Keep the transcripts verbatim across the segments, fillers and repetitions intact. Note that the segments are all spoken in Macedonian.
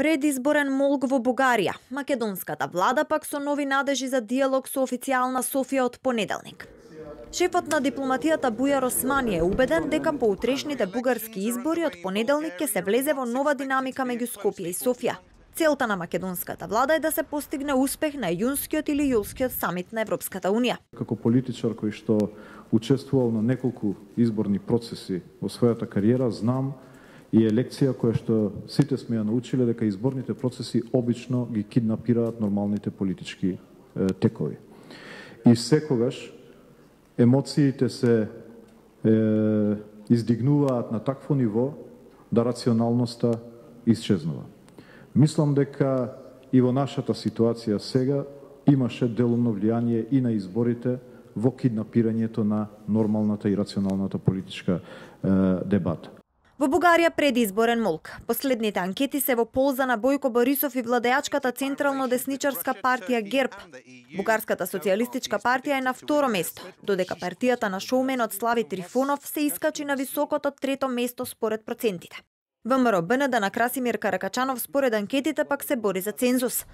Предизборен молк во Бугарија. Македонската влада пак со нови надежи за диалог со официјална Софија од понеделник. Шефот на дипломатијата Бујар Османи е убеден дека по утрешните бугарски избори од понеделник ќе се влезе во нова динамика меѓу Скопје и Софија. Целта на македонската влада е да се постигне успех на јунскиот или јулскиот самит на Европската унија. Како политичар кој што учествувал на неколку изборни процеси во својата кариера, знам и е лекција која што сите сме ја научиле дека изборните процеси обично ги киднапираат нормалните политички е, текови. И секогаш емоциите се е, издигнуваат на такво ниво да рационалноста исчезнува. Мислам дека и во нашата ситуација сега имаше делумно влијание и на изборите во киднапирањето на нормалната и рационалната политичка е, дебата. Во Бугарија предизборен молк. Последните анкети се во полза на Бојко Борисов и владеачката централно десничарска партија ГЕРБ. Бугарската социјалистичка партија е на второ место, додека партијата на шоуменот Слави Трифонов се искачи на високото трето место според процентите. ВМРО БНД на Красимир Каракачанов според анкетите пак се бори за цензус.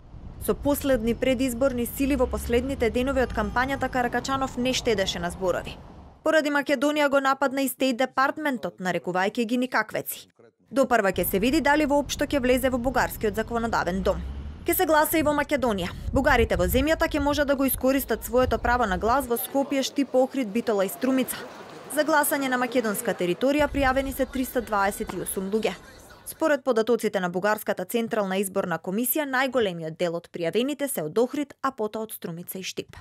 Со последни предизборни сили во последните денови од кампањата Каракачанов не штедеше на зборови. Поради Македонија го нападна и Стејт департментот, нарекувајќи ги никаквеци. Допрва ќе се види дали воопшто ќе влезе во бугарскиот законодавен дом. Ке се гласа и во Македонија. Бугарите во земјата ќе може да го искористат своето право на глас во Скопје, Штип, Охрид, Битола и Струмица. За гласање на македонска територија пријавени се триста дваесет и осум луѓе. Според податоците на Бугарската централна изборна комисија, најголемиот дел од пријавените се од Охрид, а потоа од Струмица и Штип.